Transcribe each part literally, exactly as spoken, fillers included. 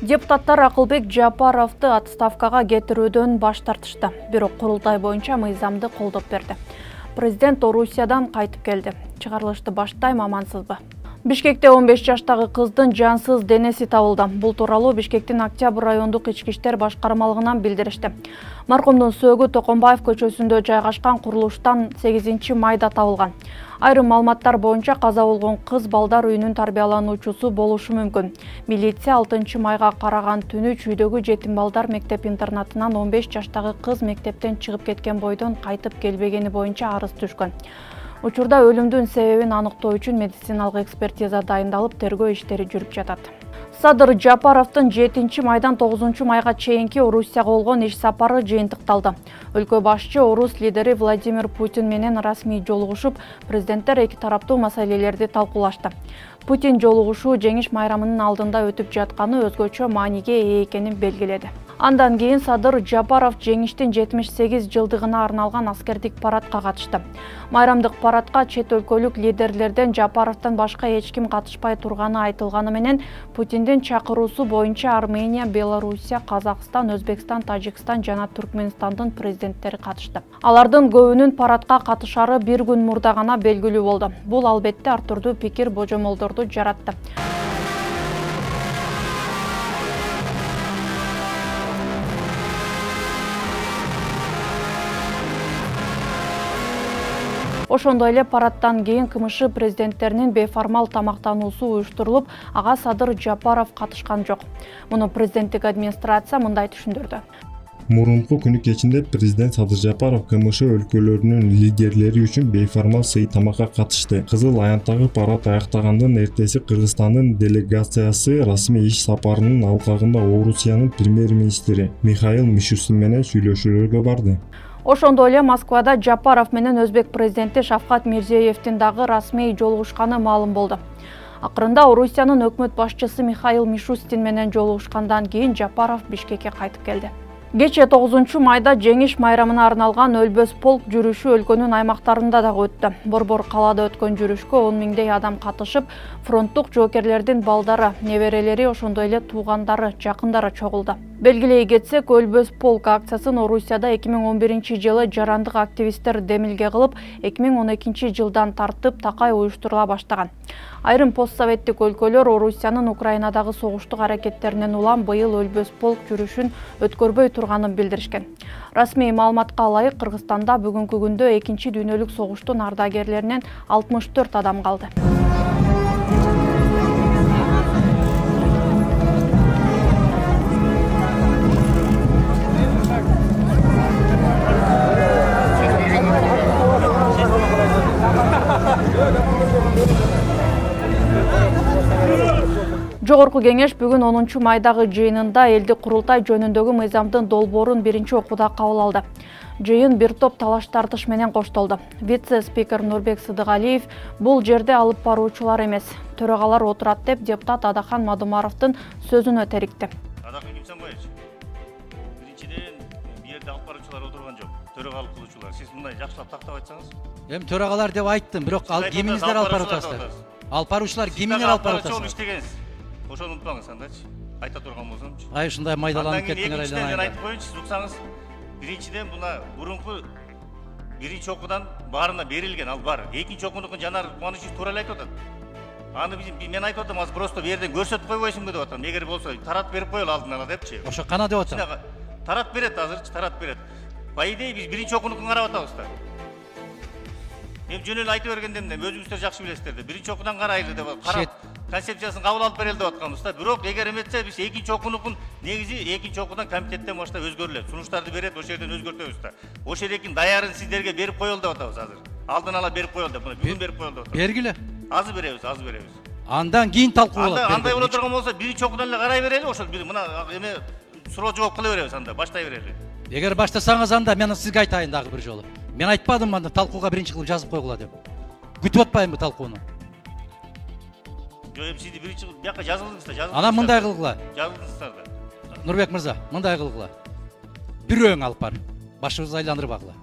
Депутаттар Акылбек Жапаровду отставкага кетирүүдөн баш тартышты. Бирок курултай боюнча мыйзамды колдоп берди. Президент Орусиядан кайтып келди. Чыгарылышты баштайм, амансызбы? Бишкекте он беш жаштагы кыздын жансыз денеси табылды. Бул тууралуу Бишкектин Октябрь райондук ички иштер башкармалыгынан билдиришти. Маркумдун сөөгү Токомбаев көчөсүндө жайгашкан курулуштан сегизинчи майда табылган. Айрым маалыматтар боюнча каза болгон кыз балдар үйүнүн тарбиялануучусу болушу мүмкүн. Милиция алтынчы майга караган түнү чүйдөгү жетим балдар мектеп-интернатынан он беш жаштагы кыз мектептен чыгып кеткен бойдон кайтып келбегени боюнча арыз түшкөн. Учурда өлүмдүн себебин аныктоо үчүн медициналык экспертиза дайындалып, тергөө иштери жүрүп жатат. Садыр Жапаровдун жетинчи майдан тогузунчу майга чейинки Орусияга болгон иш сапары жыйынтыкталды. Өлкө башчы орус лидери Владимир Путин менен расмий жолугушуп, президенттер эки тараптуу маселелерди талкуулашты. Путин жолугушуу жеңиш майрамынын алдында өтүп жатканы өзгөчө мааниге ээ экенин белгиледи. Андан кийин Садыр Жапаров жеңиштин жетимиш сегиз жылдыгына арналган аскердик парадка катышты. Майрамдык парадка чет өлкөлүк лидерлерден Жапаровдон башка эч ким катышпай турганы айтылганы менен Путиндин чакыруусу боюнча Армения, Белоруссия, Казакстан, Өзбекстан, Тажикстан жана Түркмөнстандын президенттери катышты. Алардын көбүнүн парадка катышары бир күн мурда гана белгилүү болду. Бул албетте ар түрдүү пикир божомолдорду жаратты. Ошондой эле парадтан кийин КМШ президенттеринин бейформал тамактануусу уюштурулуп, ага Садыр Жапаров катышкан жок. Муну президенттик администрация мындай түшүндүрдү. Мурунку күнү кечинде президент Садыр Жапаров КМШ өлкөлөрүнүн лидерлери үчүн бейформал сый тамакка катышты. Кызыл аянттагы парад аяктагандан эртеси Кыргызстандын делегациясы расмий иш сапарынын алкагында Орусиянын премьер-министри Михаил Мишустин менен сүйлөшүүлөргө барды. Ошондой эле Москвада Жапаров менен Өзбек президенти Шавкат Мирзиевдин дагы расмий жолугушканы маалым болду. Акырында Орусиянын өкмөт башчысы Михаил Мишустин менен жолугушкандан кийин Жапаров Бишкекке кайтып келди. Кечээ тогузунчу майда жеңиш майрамына арналган Өлбөс полк жүрүшү өлкөнүн аймактарында дагы өттү. Борбор калаада өткөн жүрүшкө он миңдей адам катышып, фронттук жоокерлердин балдары, неберелери, ошондой эле туугандары, жакындары чогулду. Белгилей кетсек, Өлбөс полк акциясын Орусияда эки миң он биринчи жылы жарандык активисттер демилге кылып, эки миң он экинчи жылдан тартып такай уюштурула баштаган. Айрым постсоветтик өлкөлөр Орусиянын Украинадагы согуштук аракеттеринен улам быйыл Өлбөс полк жүрүшүн өткөрбөй турганын билдиришкен. Расмий маалыматка ылайык, Кыргызстанда бүгүнкү күндө экинчи дүйнөлүк согуштун ардагерлеринен алтымыш төрт адам калды. Жогорку кеңеш бүгүн онунчу майдагы жыйынында элди курултай жөнүндөгү мыйзамдын долбоорун биринчи окууда кабыл алды. Жыйын бир топ талаш тартыш менен коштолду. Вице-спикер Нурбек Сыдыгалиев бул жерде алып баруучулар эмес, төрагалар отурат деп депутат Адахан Мадумаровдун сөзүнө терикти. Адахан Кимсанбаевич, биринчиден бул жерде алып баруучулар отурган жок, төрагалык кылуучулар. Сиз мындай жакшылап тактап айтсаңыз. Эми төрагалар деп айттым, бирок ал кимиңиздер алып барып атасыздар? Алып баруучулар кимиңер алып барып атасыздар? Ошону унутпаңыз, андачы. Айта турган болсомчу. Ай, ушундай майдаланып кеттиңер айланайын. Мен айтып коеюнчу, сиз уксаңыз, биринчиден буна мурунку биринчи окуудан баарына берилген, ал бар. Экинчи окуунукун Жанар Кубанычев туура эле айтып атат. Аны мен айтып атам, азыр просто бу жерден көрсөтүп койбойсуңбу деп атам. Эгер болсо тарат берип коелу алдын ала депчи. Ошо кана деп атам. Тарат берет азырчы, тарат берет. По идее биз биринчи окуунукун карап атабыз да. Эми жөн эле айтып бергенден өзүңүздөр жакшы билесиздер да. Биринчи окуудан карайлы деп карап концепциясын кабыл алып берели деп атканбыз да. Бирок эгер эметсе биз экинчи окуунукун негизи экинчи окуудан комитеттен баштап өзгөрүлөт. Сунуштарды берет, ошол жерден өзгөртөбүз да. Ошол жердин даярын сиздерге берип коелу деп атабыз азыр. Алдын ала берип коелу деп, бүгүн берип коелу деп атабыз. Бергиле. Азыр беребиз, азыр беребиз. Андан кийин талкуу болот. Андай боло турган болсо биринчи окуудан эле карай берели, ошол мына эме суроо жооп кыла беребиз анда, баштай берели. Эгер баштасаңыз анда мен сизге айтайын дагы бир жолу. Мен айтпадым анда талкууга биринчи кылып жазып койгула деп. Күтүп атпайбы талкууну? Жок, эми сизди биринчи кылып бияка жазылдыңыздар, жазылдыңыздар. Анан мындай кылгыла. Жазылдыңыздар да. Нурбек мырза, мындай кылгыла. Бирөөң алып бар. Башыбызды айландырбагыла.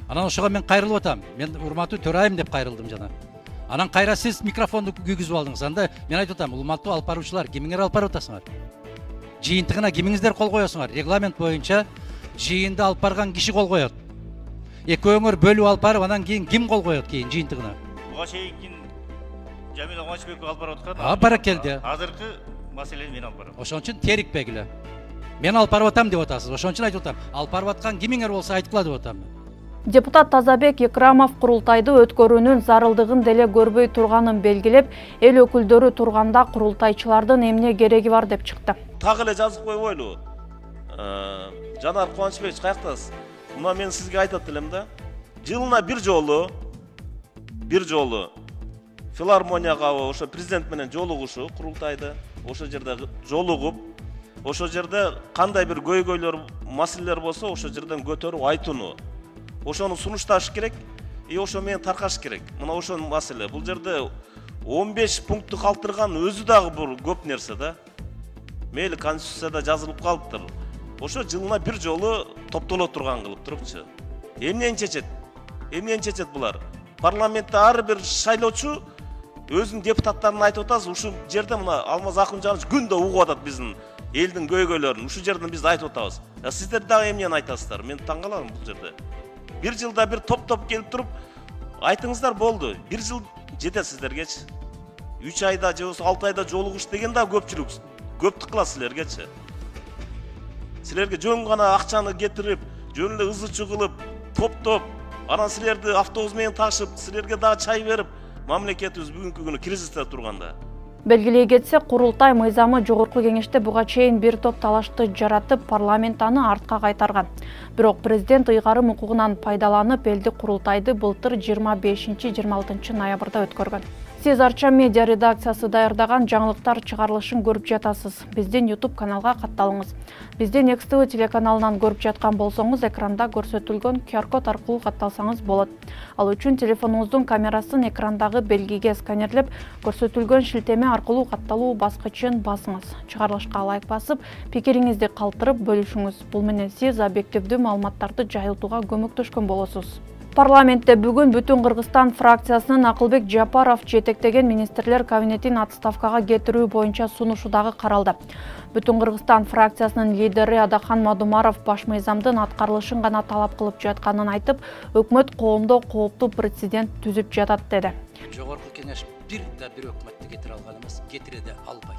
Анан ошого мен кайрылып атам. Мен урматтуу төрайым деп кайрылдым жана. Анан кайра сиз микрофонду күйгүзүп алдыңыз. Анда мен айтып атам, урматтуу алып баруучулар, кимиңер алып барып атасыңар? жыйынтыгына кимиңиздер кол коесуңар? Регламент боюнча жыйынды алып барган киши кол коет. Экөөңөр бөлүп алып барып, анан кийин ким кол коет кийин жыйынтыгына? Буга чейин Жамил Кубанычбеков алып барып аткан. А, баракелди. Азыркы маселени мен алып барам. Ошон үчүн терикпегиле. Мен алып барып атам деп атасыз. Ошон үчүн айтып атам. Алып барып аткан кимиңер болсо айткыла деп атам. Депутат Тазабек Икрамов курултайды өткөрүүнүн зарылдыгын деле көрбөй турганын белгилеп, эл өкүлдөрү турганда курултайчылардын эмне кереги бар деп чыкты. Так эле жазып койбойлу. Жанар Кубанычбекович, каяктасыз? Мына мен сизге айтат элем да. Жылына бир жолу, бир жолу филармонияга ошо президент менен жолугушу, курултайды, ошо жерде жолугуп, ошо жерде кандай бир көйгөйлөр, маселелер болсо, ошо жерден көтөрүп айтууну. Ошону сунушташ керек, и ошо менен таркаш керек. Мына ошо маселе. Бул жерде он беш пунктту калтырган өзү дагы бул көп нерсе да. Мейли конституцияда жазылып калыптыр. Ошо жылына бир жолу топтоло турган кылып турупчу. Эмнени чечет? Эмнени чечет булар? Парламентте ар бир шайлоочу өзүнүн депутаттарын айтып атасыз. Ушул жерде мына Алмаз Акунжанович күндө угуп атат биздин элдин көйгөйлөрүн. Ушул жерден биз айтып атабыз. Сиздер дагы эмнени айтасыздар? Мен таң калам бул жерде. Бир жылда бир топ-топ келип туруп айтыңыздар болду. Бир жыл жетет сиздергечи. үч айда же болбосо алты айда жолугуш деген да көпчүлүк. Көптүк кыла силергечи. Силерге жөн гана акчаны кетирип, жөн эле ызы-чуу кылып, топ-топ, анан силерди автобус менен ташып, силерге дагы чай берип, мамлекетибиз бүгүнкү күнү кризисте турганда. Белгилей кетсе, курултай мыйзамы жогорку кеңеште буга чейин бир топ талашты жаратып, парламент аны артка кайтарган. Бирок президент ыйгарым укугунан пайдаланып, элди курултайды былтыр жыйырма бешинчи жыйырма алтынчы ноябрда өткөргөн. Сиз Арча медиа редакциясы даярдаган жаңылыктар чыгарылышын көрүп жатасыз. Биздин YouTube каналга катталыңыз. Биздин Next T V телеканалынан көрүп жаткан болсоңуз, экранда көрсөтүлгөн Q R код аркылуу катталсаңыз болот. Ал үчүн телефонуңуздун камерасын экрандагы белгиге сканерлеп, көрсөтүлгөн шилтеме аркылуу катталуу баскычын басыңыз. Чыгарылышка лайк басып, пикириңизди калтырып бөлүшүңүз. Бул менен сиз объективдүү маалыматтарды жайылтууга көмөктөшкөн болосуз. Парламентте бүгүн Бүтүн Кыргызстан фракциясынын Акылбек Жапаров жетектеген министрлер кабинетин отставкага кетирүү боюнча сунушу дагы каралды. Бүтүн Кыргызстан фракциясынын лидери Адахан Мадумаров баш мыйзамдын аткарылышын гана талап кылып жатканын айтып, өкмөт коомдо кооптуу прецедент түзүп жатат деди. Жогорку кеңеш бир да бир өкмөттү кетире алган эмес, кетире да албайт.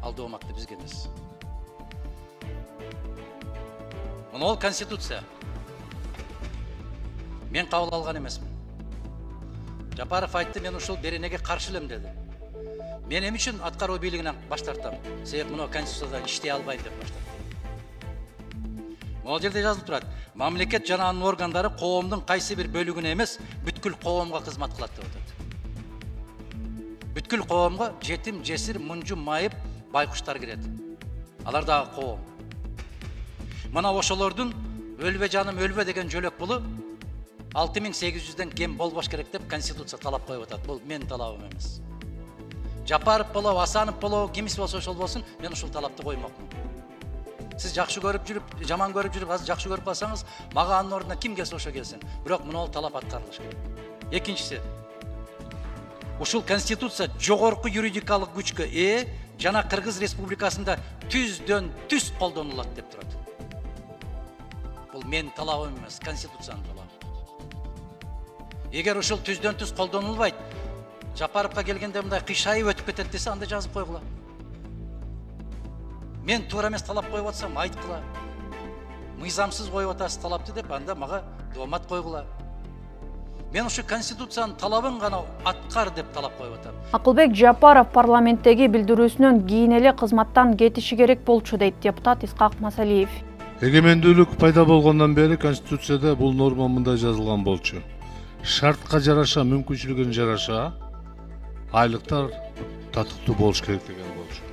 Алдоо омакты бизге эмес. Мына ол конституция. Мен кабыл алган эмесмин. Жапаров айтты, мен ушул беренеге каршы элем деди. Мен эмне үчүн аткаруу бийлигинен баш тартам? Себеп мына конституцияда иштей албайм деп баш тартам. Могул жерде жазылып турат. Мамлекет жана анын органдары коомдун кайсы бир бөлүгүнө эмес, бүткүл коомго кызмат кылат деп атат. Бүткүл коомго жетим, жесир, мунжу, майып, байкуштар кирет. Алар дагы коом. Мына ошолордун өлбө жаным өлбө деген жөлөк булу алты миң сегиз жүздөн кем болбош керек деп конституция талап коюп атат. Бул менин талабым эмес. Жапаров болобу, Асанов болобу, кимиси болсо ошол болсун, мен ушул талапты коймокмун. Сиз жакшы көрүп жүрүп, жаман көрүп жүрүп, азыр жакшы көрүп калсаңыз, мага анын ордуна ким келсе ошо келсин. Бирок мына талап аткарылыш керек. Экинчиси, ушул конституция жогорку юридикалык күчкө ээ жана Кыргыз Республикасында түздөн түз колдонулат деп турат. Бул менин талабым эмес, конституциянын талабы. Эгер ушул түздөн түз колдонулбайт, Жапаровка келгенде мындай кыйшайып өтүп кетет десе, анда жазып койгула. Мен туура эмес талап коюп атсам, айткыла. Мыйзамсыз коюп атасыз талапты деп, анда мага доомат койгула. Мен ушу конституциянын талабын гана аткар деп талап коюп атам. Акылбек Жапаров парламенттеги билдирүүсүнөн кийин эле кызматтан кетиши керек болчу дейт депутат Исхак Масалиев. Эгемендүүлүк пайда болгондон бери конституцияда бул норма мындай жазылган болчу. Шартка жараша, мүмкүнчүлүгүнө жараша айлыктар татыктуу болуш керек деген болчу.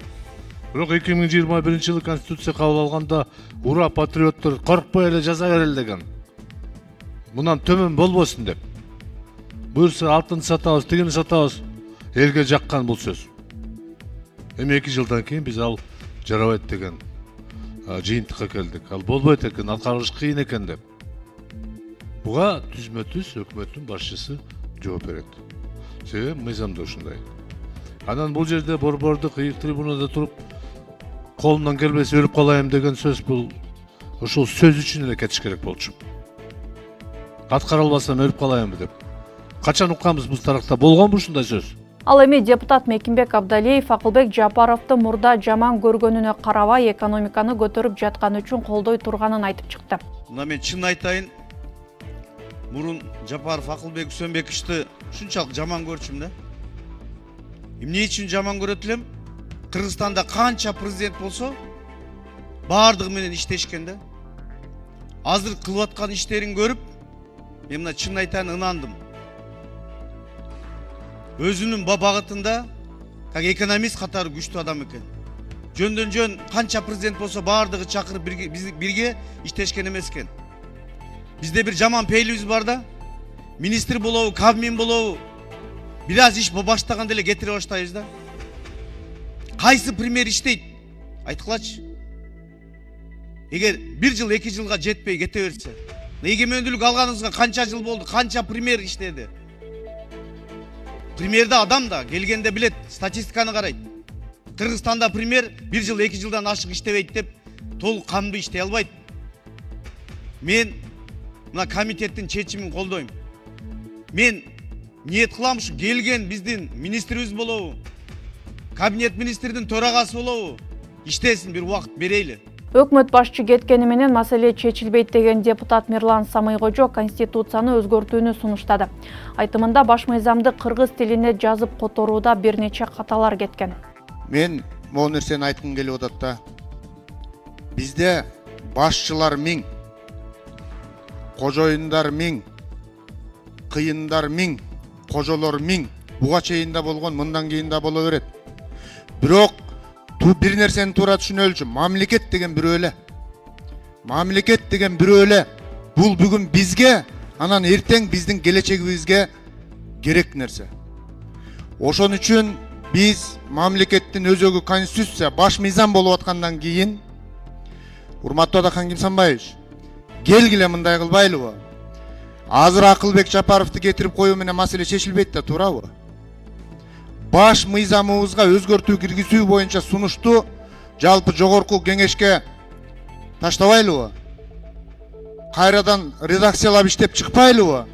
Бирок эки миң жыйырма биринчи жылы конституция кабыл алганда ура патриоттор коркпой эле жаза берели деген. Мындан төмөн болбосун деп. Буюрса алтын сатабыз, тигини сатабыз. Элге жаккан бул сөз. Эми эки жылдан кийин биз ал жарабайт деген жыйынтыкка келдик. Ал болбойт экен, аткарылыш кыйын экен деп. Буга түзмө-түз өкмөттүн башчысы жооп берет. Себеби мыйзамда ушундай. Анан бул жерде борбордук ыйык трибунада туруп колумдан келбесе өлүп калайым деген сөз бул ошол сөз үчүн эле кетиш керек болчу. Аткара албасам өлүп калайымбы деп. Качан укканбыз бул таракта болгонбу ушундай сөз? Ал эми депутат Мекимбек Абдалиев Акылбек Жапаровду мурда жаман көргөнүнө карабай экономиканы көтөрүп жатканы үчүн колдой турганын айтып чыкты. Мына мен чын айтайын, мурун Жапаров Акылбек Үсөнбековичти ушунчалык жаман көрчүм да. Эмне үчүн жаман көрөт элем? Кыргызстанда канча президент болсо, баардыгы менен иштешкен да. Азыр кылып аткан иштерин көрүп, мен мына чын айтайын ынандым. Өзүнүн багытында как экономист катары күчтүү адам экен. Жөндөн жөн канча президент болсо баардыгы чакырып бирге иштешкен эмес экен. Бизде бир жаман пейлибиз бар да. Министр болобу, Кабмин болобу, бир аз иш баштаганда эле кетире баштайбыз да. Кайсы пример иштейт? Айткылачы. Эгер бир жыл, эки жылга жетпей кете берсе, эгемендүүлүк алганыбызга канча жыл болду, канча пример иштеди? Примерде адам да келгенде билет, статистиканы карайт. Кыргызстанда пример бир жыл, эки жылдан ашык иштебейт деп толук камдуу иштей албайт. Мен мына комитеттин чечимин колдойм. Мен ниет кылам ушу келген биздин министрибиз болобу, кабинет министрдин төрагасы болобу, иштесин, бир убакыт берейли. Өкмөт башчы кеткени менен маселе чечилбейт деген депутат Мирлан Самыйкожо Конституцияны өзгөртүүнү сунуштады. Айтымында баш мыйзамды кыргыз тилине жазып которууда бир нече каталар кеткен. Мен могу нерсени айткым келип атат да. Бизде башчылар миң, кожоюндар миң, кыйындар миң, кожолор миң. Буга чейин да болгон, мындан кийин да боло берет. Бирок бир нерсени туура түшүнөлүчү, мамлекет деген бирөө эле. Мамлекет деген бирөө эле. Бул бүгүн бизге, анан эртең биздин келечегибизге керек нерсе. Ошон үчүн биз мамлекеттин өзөгү конституция, баш мыйзам болуп аткандан кийин, урматтуу Адакан Кимсанбаевич, келгиле мындай кылбайлыбы? Азыр Акылбек Жапаровду кетирип коюу менен маселе чечилбейт да, туурабы? Баш мыйзамыбызга өзгөртүү киргизүү боюнча сунушту жалпы жогорку кеңешке таштабайлыбы? Кайрадан редакциялап иштеп чыкпайлыбы?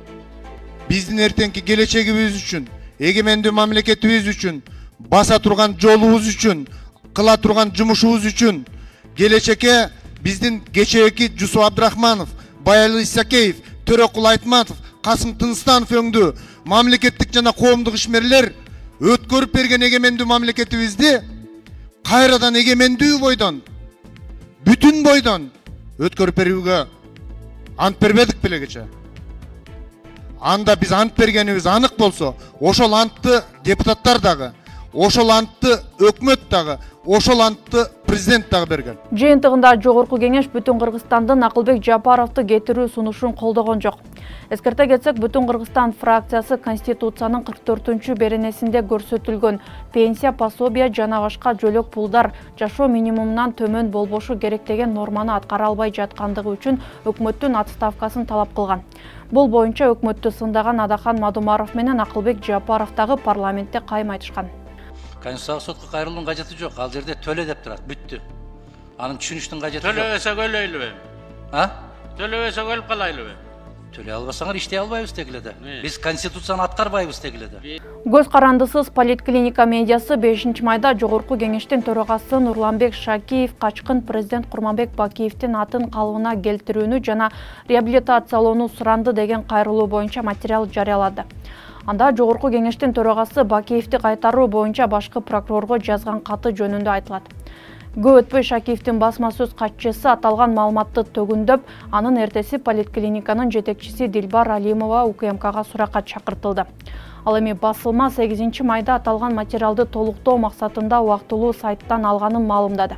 Биздин эртеңки келечегибиз үчүн, эгемендүү мамлекетибиз үчүн, баса турган жолубуз үчүн, кыла турган жумушубуз үчүн, келечекке биздин кечээки Жусуп Абдрахманов, Баялы Исакеев, Төрөкул Айтматов, Касым Тынстанов өңдүү мамлекеттик жана коомдук ишмерлер өткөрүп берген эгемендүү мамлекетибизди кайрадан эгемендүү бойдон, бүтүн бойдон өткөрүп берүүгө ант бербедик беле кече. Анда биз ант бергенибиз анык болсо, ошол антты депутаттар дагы, ошол антты өкмөт дагы, ошол антты президент дагы берген. Жыйынтыгында жогорку кеңеш бүтүн Кыргызстандын Акылбек Жапаровду кетирүү сунушун колдогон жок. Эскерте кетсек, бүтүн Кыргызстан фракциясы Конституциянын кырк төртүнчү беренесинде көрсөтүлгөн пенсия, пособия жана башка жөлөк пулдар жашоо минимумунан төмөн болбошу керек деген норманы аткара албай жаткандыгы үчүн өкмөттүн отставкасын талап кылган. Бул боюнча өкмөттү сындаган Адакан Мадумаров менен Акылбек Жапаров дагы парламентте кайым айтышкан. Конституциялык сотко кайрылуунун кажети жок. Ал жерде төлө деп турат, бүттү. Анын түшүнүштүн кажети жок. Төлөбөсөк өлөйлүбү? А? Төлөбөсөк өлүп калайлыбы? Төлөй албасаңар иштей албайбыз дегиле да. Биз конституцияны аткарбайбыз дегиле да. Көз карандысыз поликлиника медиасы бешинчи майда жогорку кеңештин төрагасы Нурланбек Шакиев качкын президент Курманбек Бакиевдин атын калыбына келтирүүнү жана реабилитациялоону суранды деген кайрылуу боюнча материал жарыялады. Анда жогорку кеңештин төрагасы Бакиевди кайтаруу боюнча башкы прокурорго жазган каты жөнүндө айтылат. Көп өтпөй Шакиевдин басма сөз катчысы аталган маалыматты төгүндөп, анын эртеси поликлиниканын жетекчиси Дилбар Алимова УКМКга суракка чакыртылды. Ал эми басылма сегизинчи майда аталган материалды толуктоо максатында убактылуу сайттан алганын маалымдады.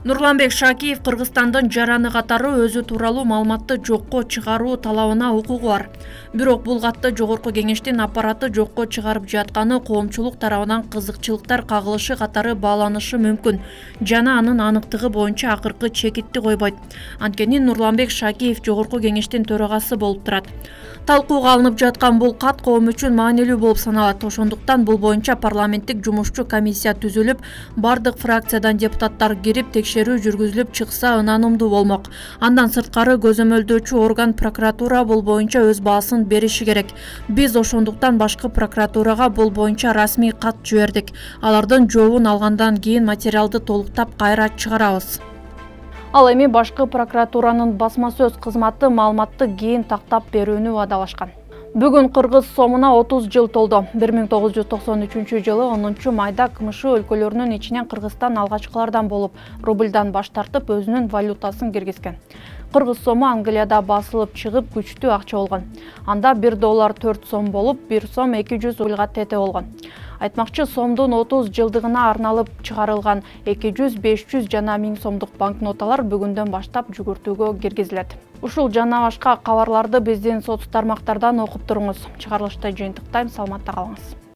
Нурланбек Шакиев Кыргызстандын жараны катары өзү тууралуу маалыматты жокко чыгаруу талабына укугу бар. Бирок бул катты жогорку кеңештин аппараты жокко чыгарып жатканы коомчулук тарабынан кызыкчылыктар кагылышы катары бааланышы мүмкүн жана анын аныктыгы боюнча акыркы чекитти койбойт. Анткени Нурланбек Шакиев жогорку кеңештин төрагасы болуп турат. Талкууга алынып жаткан бул кат коом үчүн маанилүү болуп саналат. Ошондуктан бул боюнча парламенттик жумушчу комиссия түзүлүп, бардык фракциядан депутаттар кирип текшерүү жүргүзүлүп чыкса ынанымдуу болмок. Андан сырткары көзөмөлдөөчү орган прокуратура бул боюнча өз баасын бериши керек. Биз ошондуктан башкы прокуратурага бул боюнча расмий кат жибердик. Алардын жообун алгандан кийин материалды толуктап кайра чыгарабыз. Ал эми башкы прокуратуранын басма сөз кызматы маалыматты кийин тактап берүүнү убадалашкан. Бүгүн кыргыз сомуна отуз жыл толду. бир миң тогуз жүз токсон үчүнчү жылы онунчу майда КМШ өлкөлөрүнүн ичинен Кыргызстан алгачкылардан болуп, рубльдан баш тартып өзүнүн валютасын киргизген. Кыргыз сому Англияда басылып чыгып күчтүү акча болгон. Анда бир доллар төрт сом болуп, бир сом эки жүз рубльга тете болгон. Айтмакчы, сомдун отуз жылдыгына арналып чыгарылган эки жүз, беш жүз жана миң сомдук банкноталар бүгүндөн баштап жүгүртүүгө киргизилет. Ушул жана башка кабарларды биздин соц тармактардан окуп туруңуз. Чыгарылышты жыйынтыктайм, саламатта калыңыз.